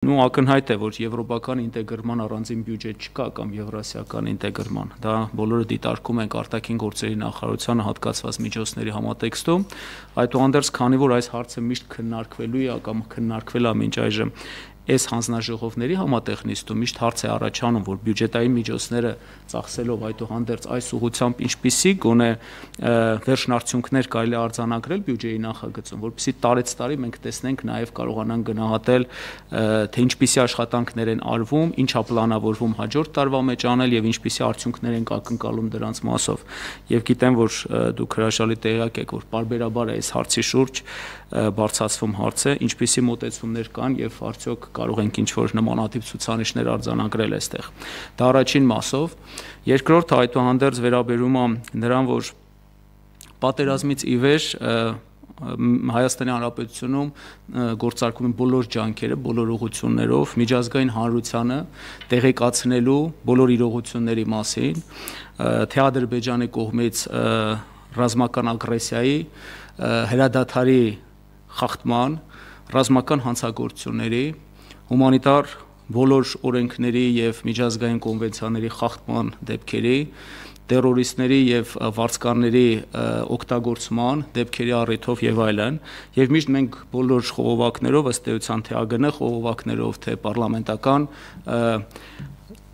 Ну, ակնհայտ է, որ եվրոպական ինտեգրման առանձին բյուջետ չկա կամ եվրասիական ինտեգրման, դա բոլորը դիտարկում ենք արտաքին գործերի նախարարությանը հատկացված միջոցների համատեքստում, այդուհանդերձ, քանի որ այս հարցը միշտ քննարկվելու է կամ քննարկվել է մինչ այժմ այս հանձնաժողովների համատեխնիստում միշտ հարց է առաջանում, որ բյուջետային միջոցները ծախսելով այդուհանդերձ այս ուղղությամբ ինչպիսի գոնե վերջնարդյունքներ կարելի է արձանագրել բյուջեի նախագծում, որպեսզի տարեցտարի մենք տեսնենք նաև կարողանանք գնահատել, թե ինչպիսի աշխատանքներ են արվում, ինչա պլանավորվում հաջորդ տարվա մեջ անել եւ ինչպիսի արդյունքներ ենք ակնկալում դրանց մասով։ Եվ գիտեմ, որ դուք հրաշալի տեղյակ եք, որ պարբերաբար է այս հարցի շուրջ բարձրացվում հարցը, ինչպիսի մոտեցումներ կան եւ արդյոք կարող ենք ինչ-որ նմանատիպ ցուցանիշներ արձանագրել այստեղ։ Դա առաջին մասով։ Երկրորդը այդուհանդերձ վերաբերում է նրան, որ պատերազմից ի վեր Հայաստանի Հանրապետությունում գործարկում են բոլոր ջանքերը, բոլոր ուղղություններով միջազգային հանրությանը տեղեկացնելու բոլոր իրողությունների մասին, թե Ադրբեջանի կողմից ռազմական ագրեսիայի, հրադադարի խախտման, ռազմական հանցագործությունների, հումանիտար բոլոր օրենքների եւ միջազգային կոնվենցիաների խախտման դեպքերի, տերորիստների եւ վարձկանների օգտագործման դեպքերի առիթով եւ այլն, եւ միշտ մենք բոլոր խողովակներով ըստ էության թե ԱԳՆ խողովակներով, թե պարլամենտական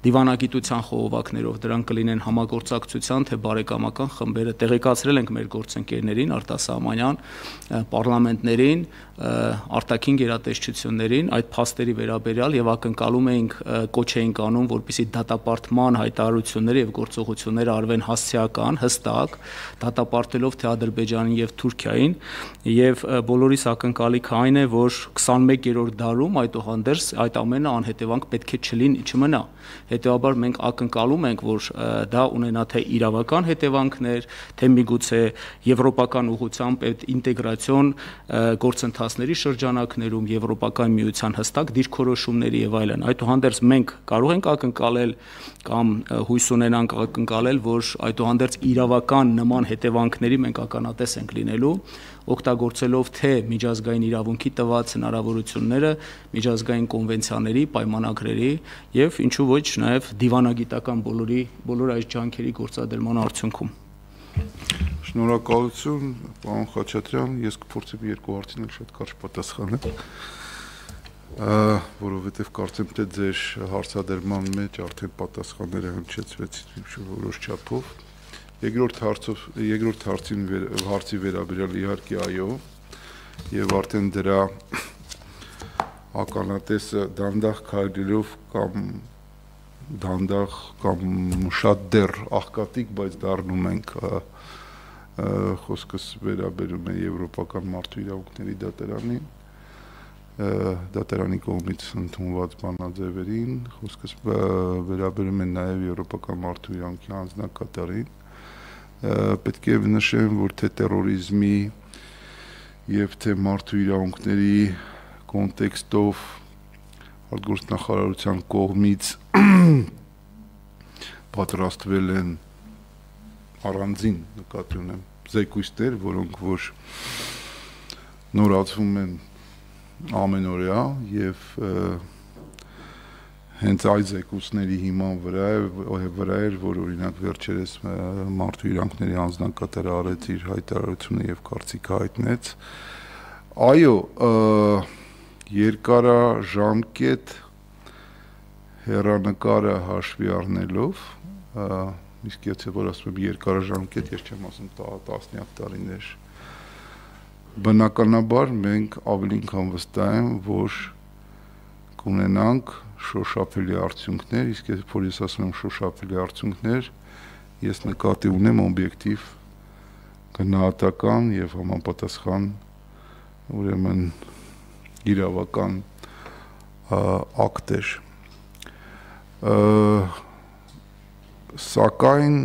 դիվանագիտության խողովակներով դրանք կլինեն համագործակցության թե բարեկամական խմբերը տեղեկացրել ենք մեր գործընկերներին արտասահմանյան պարլամենտներին, արտաքին գերատեսչություններին այդ փաստերի վերաբերյալ եւ ակնկալում էինք կոչ էինք անում, որպեսզի դատապարտման հայտարարությունները եւ գործողությունները արվեն հասցեական, հստակ, դատապարտելով թե Ադրբեջանին եւ Թուրքիային եւ բոլորիս ակնկալիքը այն է, որ 21-րդ դարում այդուհանդերձ այդ ամենը անհետևանք պետք է չմնա։ Հետևաբար մենք ակնկալում ենք, որ դա ունենա թե իրավական հետևանքներ, թե միգուցե եվրոպական ուղղությամբ այդ ինտեգրացիոն գործընթացների շրջանակներում եվրոպական միության հստակ դիրքորոշումների եւ այլն։ Այդուհանդերձ մենք կարող ենք ակնկալել կամ հույս ունենանք ակնկալել, որ այդուհանդերձ իրավական նման հետևանքների մենք ականատես ենք լինելու, օգտագործելով թե միջազգային իրավունքի տված հնարավորությունները, միջազգային կոնվենցիաների, պայմանագրերի եւ ինչու ոչ նաեւ դիվանագիտական բոլոր այս ջանքերի գործադրման արդյունքում։ Շնորհակալություն, պարոն Խաչատրյան, ես կփորձեմ երկու հարցին շատ կարճ պատասխանել, որովհետեւ կարծեմ թե ձեր հարցադրման մեջ արդեն պատասխանները հնչեցվեցին որոշ չափով։ Երկրորդ հարցի վերաբերյալ իհարկե այո, եւ արդեն դրա ականատեսը դանդաղ քայլելով կամ շատ դեռ աղքատիկ, բայց դառնում ենք խոսքս վերաբերում է Եվրոպական մարդու իրավունքների դատարանի կողմից ընդունված բանաձևերին, խոսքս վերաբերում է նաեւ Եվրոպական մարդու իրավունքի հանձնակատարին, պետք է նշեմ, որ թե տերորիզմի եւ թե մարդու իրավունքների կոնտեքստով արտգործնախարարության կողմից պատրաստվել են առանձին նկատի ունեմ զեկույցներ, որոնք որ նորացվում են ամենօրյա եւ հենց այդ զեկույցների հիման վրա էր, որ օրինակ վերջերս մարդու իրավունքների հանձնակատարը արեց իր հայտարարությունը եւ կարծիքը հայտնեց։ Այո, երկարաժամկետ հեռանկարը հաշվի առնելով, իսկ եթե որ ասում եմ երկարաժամկետ, ես չեմ ասում տասնյակ տարիներ, բնականաբար մենք ավելին քան վստահ եմ, որ կունենանք շոշափելի արդյունքներ, իսկ որ ես ասում եմ շոշափելի արդյունքներ, ես նկատի ունեմ օբյեկտիվ գնահատական եւ համապատասխան ուրեմն իրավական ակտեր։ Սակայն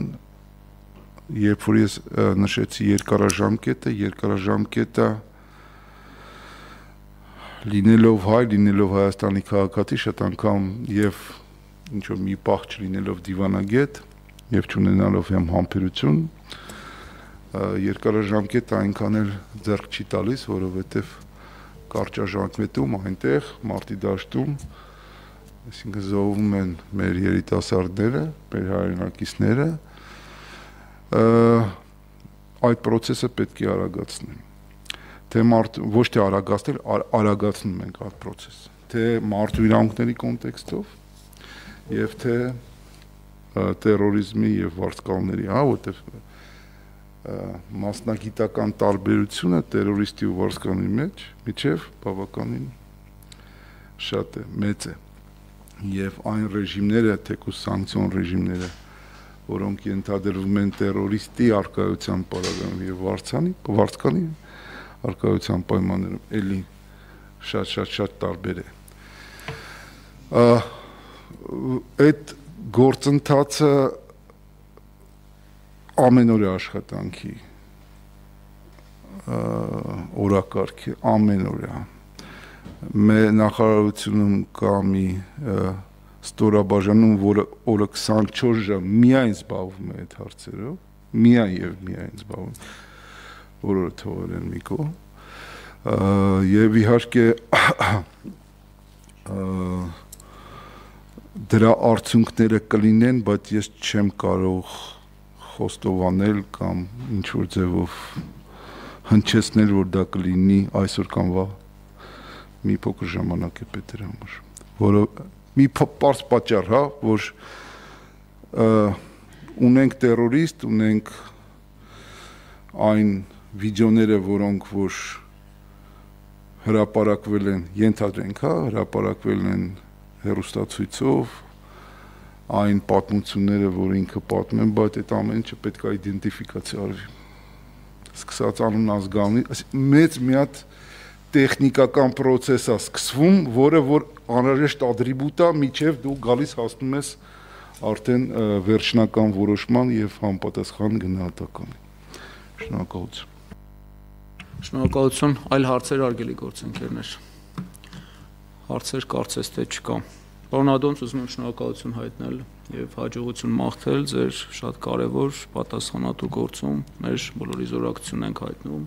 երբ որ ես նշեցի երկարաժամկետը լինելով հայ, լինելով Հայաստանի քաղաքացի, շատ անգամ եւ ինչ-որ մի պահ չլինելով դիվանագետ եւ չունենալով համբերություն, երկարաժամկետ այնքան էլ ձեռք չի տալիս, որովհետեւ կարճաժամկետում այնտեղ մարտի դաշտում, այսինքն զոհվում են մեր երիտասարդները, մեր հայրենակիցները, այդ process-ը պետք է արագացնել։ Թե ոչ թե արագացնել, արագացնում ենք այդ process-ը, թե մարդու իրավունքների կոնտեքստով եւ թե տերորիզմի եւ վարձկալների, որտեղ մասնագիտական տարբերությունը տերորիստի ու վարձկալի միջև բավականին շատ է, մեծ է։ Եվ այն ռեժիմները, թեկուզ սանկցիոն ռեժիմները, որոնք ենթադրվում են տերորիստի արկայության պարագայում եւ վարձկալի արկայության պայմաններում, էլի շատ տարբեր է։ Այդ գործընթացը ամենօրյա աշխատանքի օրակարգ է, ամենօրյա։ Մեր նախարարությունում կա մի ստորաբաժանում, որը օրը 24 ժամ միայն զբաղվում է այդ հարցերով, միայն զբաղվում, որը թողել են մի կողմ, եւ իհարկե դրա արդյունքները կլինեն, բայց ես չեմ կարող խոստովանել կամ ինչ-որ ձևով հնչեցնել, որ դա կլինի այսօր կամ վաղ, մի փոքր ժամանակ է պետք դրա համար, որը մի պարզ պատճառ, որ ունենք տերորիստ, ունենք այն վիդեոները, որոնք որ հրապարակվել են, ենթադրենք, հրապարակվել են հեռուստացույցով, այն պատմությունները, որ ինքը պատմում են, բայց այդ ամեն ինչը պետք է իդենտիֆիկացիա արվի։ Սկսած անուն ազգանունի, մեծ մի հատ տեխնիկական process է սկսվում, որը որ անհրաժեշտ ատրիբուտ է, միջև դու գալիս հասնում ես արդեն վերջնական որոշման եւ համապատասխան գնահատականի։ Շնորհակալություն։ Շնորհակալություն, այլ հարցեր արգելի գործընկերներ։ Հարցեր կարծես թե չկա։ Պարոն Ադոնց, ուզում եմ շնորհակալություն հայտնել եւ հաջողություն մաղթել ձեր շատ կարեւոր պատասխանատու գործում, մեր բոլորի զորակցությունն ենք հայտնում։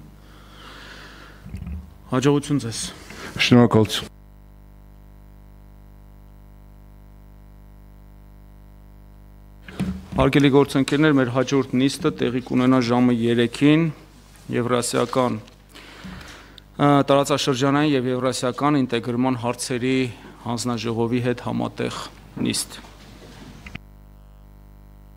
Հաջողություն ձեզ։ Շնորհակալություն։ Հարգելի գործընկերներ, մեր հաջորդ նիստը տեղի կունենա ժամը 3-ին Եվրասիական տարածաշրջանային եւ եվրասիական ինտեգրման հարցերի հանձնաժողովի հետ համատեղ նիստ։